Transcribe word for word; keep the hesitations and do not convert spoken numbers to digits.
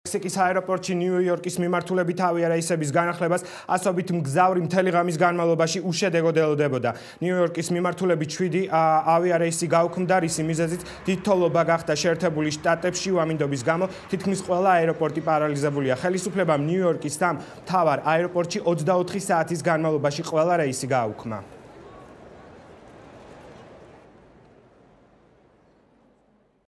მექსიკის აეროპორტში ნიუ-იორკის მიმართულებით ავიარეისების განახლებას ასობით მგზავრი მთელი ღამის განმავლობაში უშედეგოდ ელოდებოდა. ნიუ-იორკის მიმართულებით შვიდი ავიარეისი გაუქმდა, რის მიზეზით დიდ თოვლობა გახდა შეერთებული შტატებში უამინდობის გამო თითქმის ყველა აეროპორტი პარალიზებულია. ხელისუფლებამ ნიუ-იორკის სამ მთავარ აეროპორტში ოცდაოთხი საათის განმავლობაში ყველა რეისი გააუქმა.